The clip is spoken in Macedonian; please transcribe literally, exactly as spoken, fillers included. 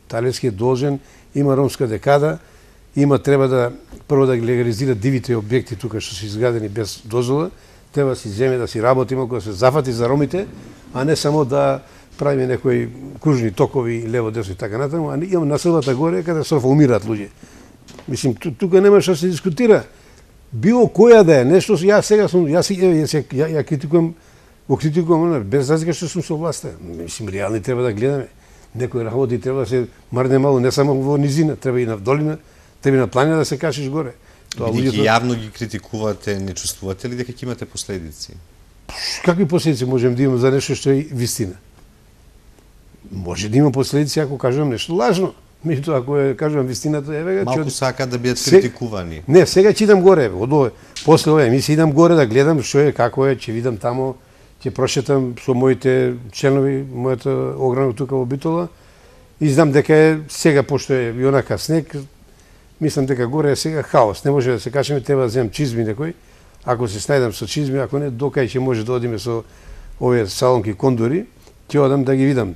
Талевски е должен, има ромска декада, има треба да прво да ги легализира дивите објекти тука што се изградени без дозвола, треба да си земе да си работи малку, да се зафати за ромите, а не само да правиме некои кружни токови лево десно и така натаму, а имам населбата горе каде се умираат луѓе. Мислим тука нема што се дискутира. Било која да е нешто, ја сега сум ја си ја, ја, ја критикувам, го критикувам без разлика што сум со власта. Мислим реални треба да гледаме. Некои работи треба да се марне мало, не само во низина, треба и на долина, треба и на планина да се качиш горе. Тоа луѓето јавно ги критикувате, не чувствувате ли дека ќе имате последици? Какви последици можем да имаме за нешто што е вистина? Може да има последици ако кажам нешто лажно. Меѓутоа ако е кажам вистината, еве га, малку сака да бидат критикувани. Не, сега ќе идам горе, од овој, после овој емисија идам горе да гледам што е, како е, ќе видам тамо, ќе прошетам со моите членови, мојата ограна тука во Битола, и знам дека е сега, пошто е и онака снег, мислам дека горе е сега хаос, не може да се качаме, треба да земам чизми некој, ако се снајдам со чизми, ако не, докај ќе може да одиме со овие салонки кондори, ќе одам да ги видам.